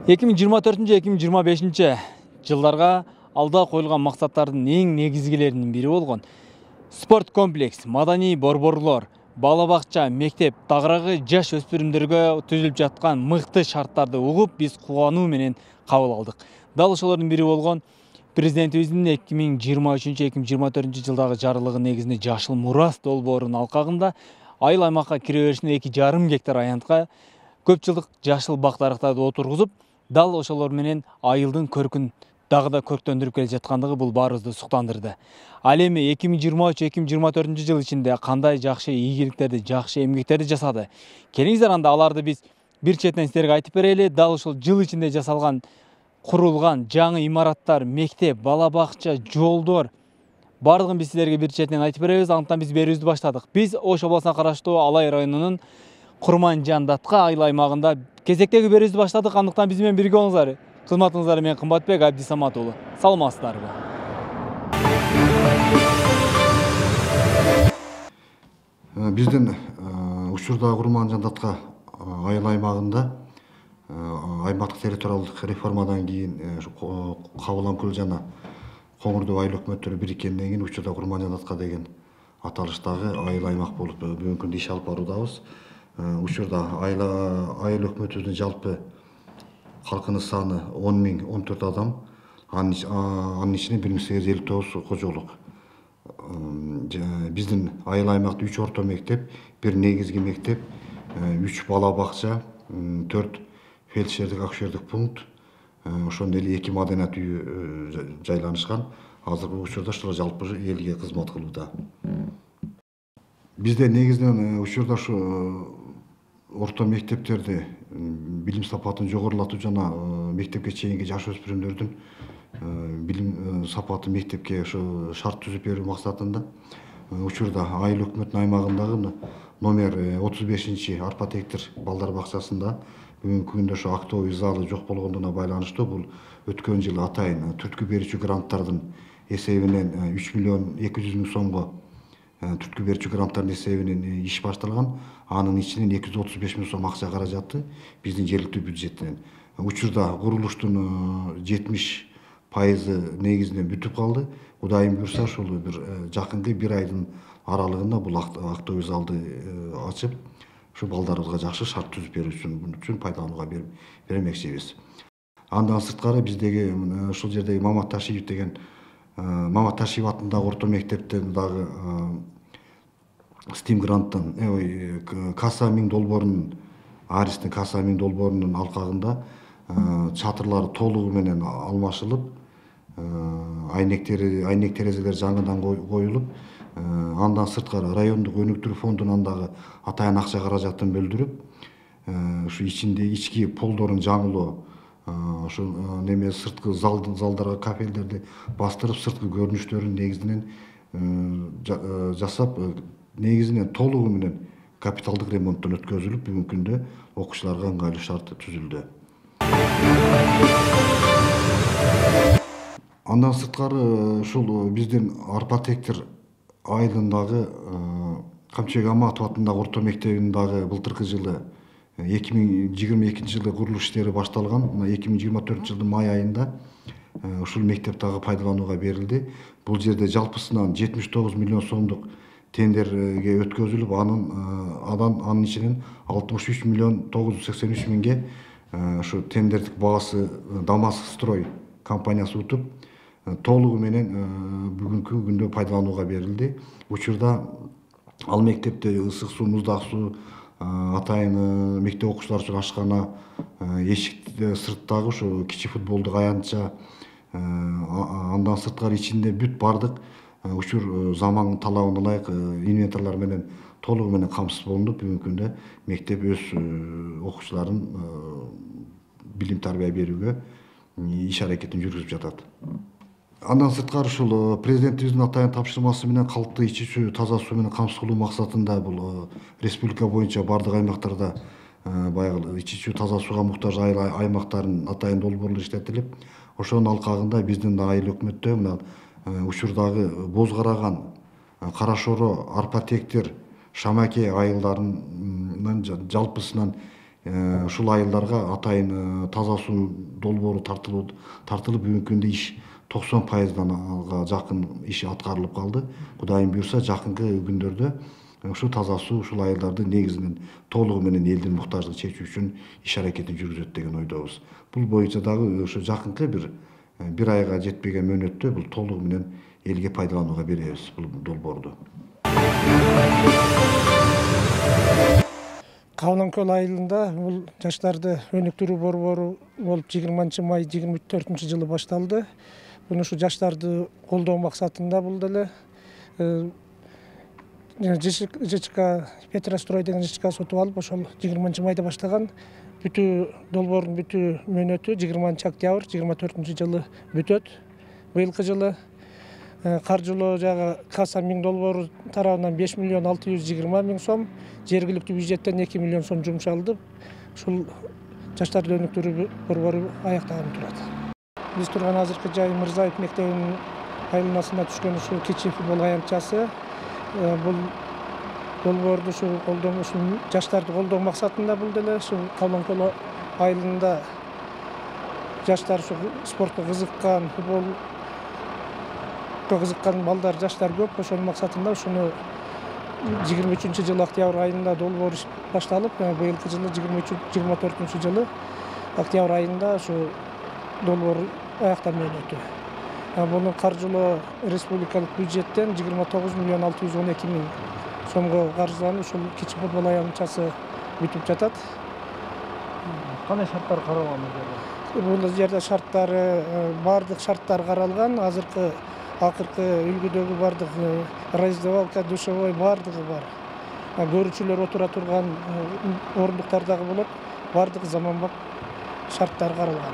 2024-2025 жылдарга алда коюлган максаттардын эң негизгилеринин бири болгон спорт комплекс, маданий борборлор, бала бакча, мектеп тагыраагы жаш өспүрүмдөргө түзүлүп жаткан мыкты шарттарды угуп, биз кубануу менен кабыл алдык. Дал ошолордун бири болгон президентибиздин 2023-2024 жылдагы жарлыгы негизинде Жашыл Мурас долбоорунун алкагында айыл аймакка кире беришинде 2,5 гектар аянтка көп жылдык жашыл бак дарактарды отургузуп, дал ошолор менен айылдын көркүн дагы да көрктөндүрүп келе жаткандыгы бул баарыбызды суктандырды. Ал эми 2023-2024 жыл ичинде кандай жакшы ийгиликтерди, жакшы эмгектерди жасады. Келиңиздер анда аларды биз бир четинен силерге айтып берели. Дал ушул жыл ичинде жасалган, курулган жаңы имараттар, мектеп, бала бакча, жолдор бардыгын биз силерге бир четинен айтып беребиз. Антан биз берүүбүздү баштадык. Биз Ош областына караштуу Алай районунун Курманжандатка айыл аймагында кезектеги берүүбүздү баштадык. Андыктан биз менен бирге болуңуздар. Кызматыңыздар мен Кымбатбек Абдисамат уулу. Саламатсыздарбы? Биздин учурда Курманжандатка айыл аймагында аймактык территориалдык реформадан кийин Кабыл Амкөл жана Коңурдуу айыл өкмөттөрү бириккенден кийин учурда Курманжандатка деген аталыштагы айыл аймак болуп бүгүнкү күндө иш алып баруудабыз. Учурда айыл өкмөтүбүздүн жалпы халкынын саны 10.014 адам, анын ичинде 1859 кожолук. Биздин айыл аймакта 3 орто мектеп, 1 негизги мектеп, 3 бала бакча, 4 фельдшердик акушердик пункт, ошондой эле 2 маданият үйү жайланышкан. Азыркы учурда ушулар жалпы элге кызмат кылууда. Бизде негизинен учурда ушу орто мектептерди билим сапатын жогорулатуу жана мектепке чейинки жаш өспүрүмдөрдүн билим сапаты мектепке ошо шарт түзүп берүү максатында учурда айыл өкмөтүнүн аймагындагы номер 35 Арпа Тектир балдар бакчасында бүгүнкү күндө ошо актовый залы жок болгондугуна байланыштуу бул өткөн жылы атайын түрткү берүүчү гранттардын эсебинен 3.200.000 сомго түрткү берүүчү гранттардын эсебинен иш башталган. Анын ичинен 235.000 сом акча каражаты биздин жергиликтүү бюджеттен. Учурда курулуштун 70% негизинен бүтүп калды. Кудайым буйрса ошол бир жакынкы 1 айдын аралыгында бул актовый залды ачып, ушу балдарыбызга жакшы шарт түзүп берүү үчүн пайдаланууга бермекчибиз. Андан сырткары биздеги ушул жердеги Мамат Ташиев деген Мамат Ташиев атындагы орто мектептен дагы Steam гранттан Каса 1000 долбоорунун Аристин Каса 1000 долбоорунун алкагында чатырлары толугу менен алмашылып, айнек терезелер жаңыдан коюлуп, андан сырткары райондук өнүктүрүү фондунан дагы атайын акча каражатын бөлдүрүп, ушу ички полдорун жаңылоо, ошо неме сырткы залдарга кафелдерди бастырып, сырткы көрүнүштөрүн негизинен жасап, негизинен толугу менен капиталдык ремонттон өткөзүлүп, бүгүнкү күндө окуучуларга ыңгайлуу шарт түзүлдү. Андан сырткары ушул биздин Арпа Тектир айылындагы Камчыбек Аматов атындагы орто мектебинин дагы былтыркы жылы 2022 жылы курулуш иштери башталган. 2024 жылдын май айында ушул мектеп дагы пайдаланууга берилди. Бул жерде жалпысынан 79 миллион сомдук тендерге өткөзүлүп, анын ичинен 63 миллион 983 миңге ушу тендердик баасы Дамаск строй компаниясы утуп, толугу менен бүгүнкү күндө пайдаланууга берилди. Учурда ал мектепте ысык суу, муздак суу, атайын мектеп окуучулар үчүн ашкана, эшикте сырттагы ушу кичи футболдук аянтча, андан сырткары ичинде бүт бардык учур заман талабына ылайык инвентарлар менен толугу менен камсыз болунуп, бүгүнкү күндө мектеп өз окуучуларын билим тарбия берүүгө иш аракетин жүргүзүп жатат. Андан сырткары ушул президентибиздин атайын тапшырмасы менен калкты ичүүчү таза суу менен камсыз кылуу максатында бул республика боюнча бардык аймактарда баягы ичүүчү таза сууга муктаж айыл аймактарын атайын долбоорлор иштетилип, ошонун алкагында биздин айыл өкмөттө мына учурдагы Боз Караган, Кара Шоро, Арпа Тектир, Шамаке айылдарынын жалпысынан ушул айылдарга атайын таза суу долбоору тартылып бүгүнкү күндө иш 90%га жакын иш аткарылып калды. Кудайым буйрса жакынкы күндөрдө ушу таза суу ушул айылдарды негизинен толугу менен элдин муктаждыгын чечүү үчүн иш аракетин жүргүзөт деген ойдобуз. Бул боюнча дагы ушу жакынкы бир айга жетпеген мөөнөттө бул толугу менен элге пайдаланууга беребиз бул долбоорду. Кабылан көл айылында бул жаштарды өнүктүрүү борбору болуп 20 май 24-жылы башталды. Буну ушу жаштарды колдоо максатында бул деле ЖЧК Петрострой деген ЖЧК сотуп алып, ошол 20 майда баштаган долбоордун бүтүү мөөнөтү 20 октябрь 24-жылы бүтөт. Быйылкы жылы каржылоо жагы касса 1000 долбоору тарабынан 5.620.000 сом, жергиликтүү бюджеттен 2 миллион сом жумшалды. Ушул жаштарды өнүктүрүү борбору аякталып турат. Биз турган азыркы жай Мырзаев мектебинин айланасына түшкөн ушул кичи футбол аянтчасы бул долбоорду ушул жаштарды колдоо максатында бул деле ушул Кабылан көл айылында жаштар спортко кызыккан, футболго кызыккан балдар, жаштар көп. Ошонун максатында ушуну 23-жылы октябрь айында долбоор башталып, быйылкы жылы 24-жылы октябрь айында ушу долбоор аякталып өтү. Буну каржылоо республикалык бюджеттен 29.612.000 сомго каржыланып, ушул кичи футбол аянтчасы бүтүп жатат. Кандай шарттар каралган бул жерде? Бардык шарттар каралган. Акыркы үлгүдөгү бардык раздевалка, душевой бардыгы бар. Көрүүчүлөр отура турган орундуктар дагы болот. Бардык заманбап шарттар каралган.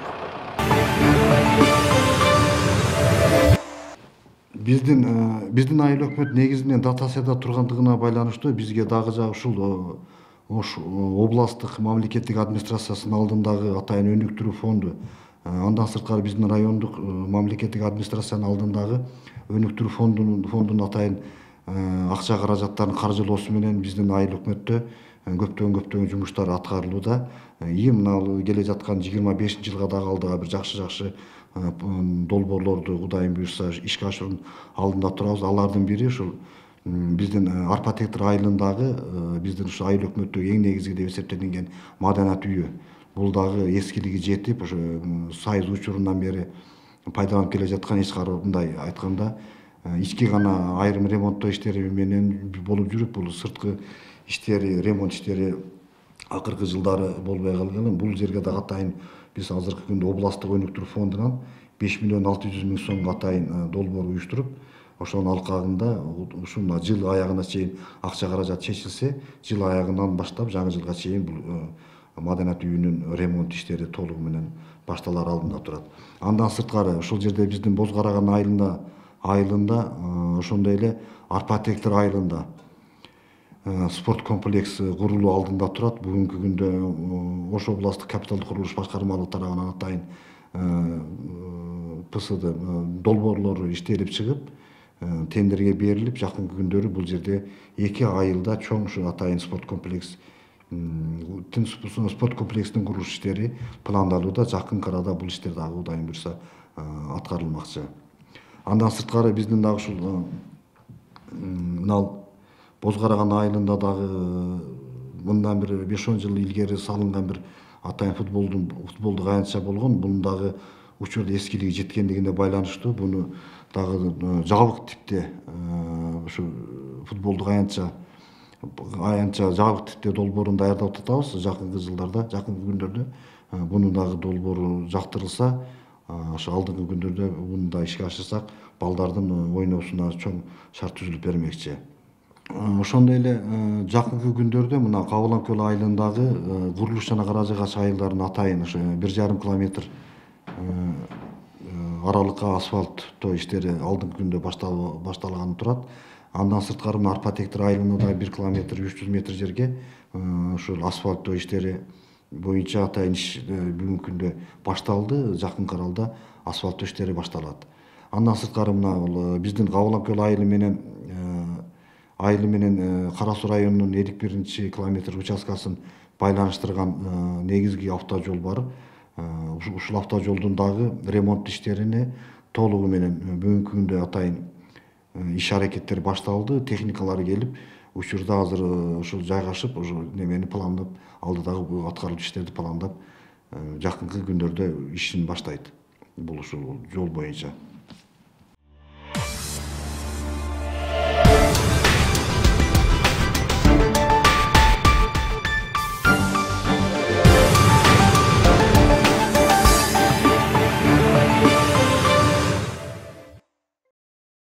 Биздин айыл өкмөт негизинен дотацияда тургандыгына байланыштуу бизге дагы ушул областтык мамлекеттик администрациясынын алдындагы атайын өнүктүрүү фонду, андан сырткары биздин райондук мамлекеттик администрациянын алдындагы өнүктүрүү фондунун атайын акча каражаттарын каржылоосу менен биздин айыл өкмөттө көптөгөн жумуштар аткарылууда. Мына келе жаткан 25-жылга дагы алдыга бир жакшы долбоорлорду Кудайым буйрса ишке ашыруунун алдында турабыз. Алардын бири ушул биздин Арпа Тектир айылындагы биздин ушу айыл өкмөттөгү эң негизги деп эсептелинген маданат үйү. Бул дагы эскилиги жетип, ошо сайыз учурунан бери пайдаланып келе жаткан, эч кандай мындай айтканда ички гана айрым ремонттоо иштери менен болуп жүрүп, бул сырткы иштери, ремонт иштери акыркы жылдары болбой калган. Бул жерге дагы атайын биз азыркы күндө областтык өнүктүрүү фондунан 5.600.000 сомго атайын долбоор уюштуруп, ошонун алкагында ушул жыл аягына чейин акча каражат чечилсе, жыл аягынан баштап жаңы жылга чейин бул маданат үйүнүн ремонт иштери толугу менен башталар алдында турат. Андан сырткары ушул жерде биздин Боз Караган айылында ошондой эле Арпа Тектир айылында спорт комплекси курулуу алдында турат. Бүгүнкү күндө Ош областтык капиталдык курулуш башкармалыгы тарабынан атайын ПСД долбоорлору иштелип чыгып, тендерге берилип, жакынкы күндөрү бул жерде 2 айылда чоң ушу атайын спорт комплексинин курулуш иштери пландалууда. Жакынкы арада бул иштер дагы Кудайым буйрса аткарылмакчы. Андан сырткары биздин дагы ушул Боз Караган айылында дагы мындан бир 5-10 жыл илгери салынган бир атайын футболдук аянтча болгон. Бунун дагы учурда эскилиги жеткендигине байланыштуу буну дагы жабык типте ушу футболдук аянтча жабык типте долбоорун даярдап атабыз. Жакынкы күндөрдө буну дагы долбоору жактырылса, ошо алдыңкы күндөрдө буну да ишке ашырсак, балдардын ойноосуна чоң шарт түзүлүп бермекчи. Ошондой эле жакынкы күндөрдө мына Кабылан көл айылындагы курулуш жана Каражы Кач айылдарынын атайын ошо 1,5 километр аралыкка асфальттоо иштери алдыңкы күндө башталганы турат. Андан сырткары Арпа Тектир айылында 1 километр 300 метр жерге ушул асфальттоо иштери боюнча атайын иш бүгүнкү күндө башталды. Жакынкы аралда асфальттоо иштери башталат. Андан сырткары мына биздин Кабылан көл айылы менен айылы менен Кара Суу районунун 51 километр участкасын байланыштырган негизги автожол бар. Ушул автожолдун дагы ремонт иштерине толугу менен бүгүнкү күндө атайын иш аракеттер башталды. Техникалар келип, учурда азыр ушул жайгашып, ушу немени пландап, алдыдагы аткарылуу иштерди пландап, жакынкы күндөрдө ишин баштайт. Бул ушул жол боюнча.